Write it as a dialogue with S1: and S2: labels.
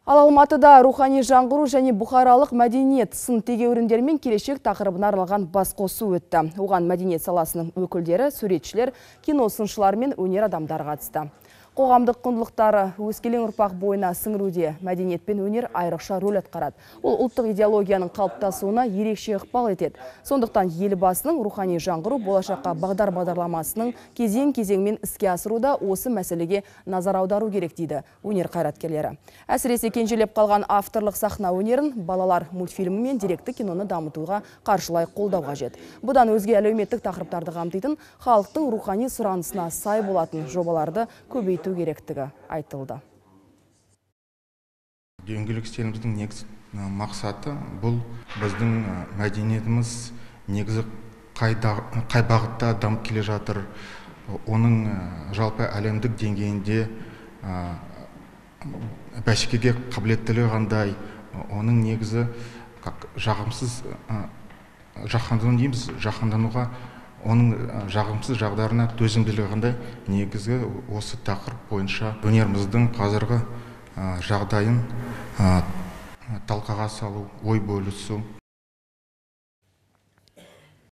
S1: Ал Алматыда рухани жаңғыру және бұқаралық мәдениет сын тегеуріндер мен келешек тақырыбына арналған басқосу өтті. Оған мәдениет саласының өкілдері, суретшілер, киносыншылар мен өнер адамдары қатысты. Қоғамдық құндылықтары өскелең ұрпақ бойына сіңіруде мәдениет пен өнер айрықша рөл атқарады. Ол ұлттық идеологияның қалыптасуына ерекше ықпал етеді. Сондықтан елбасының рухани жаңғыру болашаққа бағдарламасының кезең-кезеңмен іске асыруда осы мәселеге назар аудару керек дейді өнер қайраткерлері. Әсіресе кенжелеп қалған авторлық сахна өнерін балалар мультфильмі мен деректі киноны дамытуға қаржылай қолдау қажет. Бұдан өзге әлеуметтік тақырыптарды қамтитын, халықтың рухани сұранысына сай болатын жобаларды көбейту керектігі айтылды.
S2: Дөңгелек үстеліміздің негізгі мақсаты бұл біздің мәдениетіміз негізі қай бағытта дамып келе жатыр, оның жалпы әлемдік деңгейінде бәсекеге қабілеттілігі қандай, оның негізі жағымсыз жаһандануға оның жағымсыз жағдарына төзімділігі қандай, негізгі осы тақырып бойынша өнеріміздің қазіргі жағдайын талқыға салу, ой бөлісу.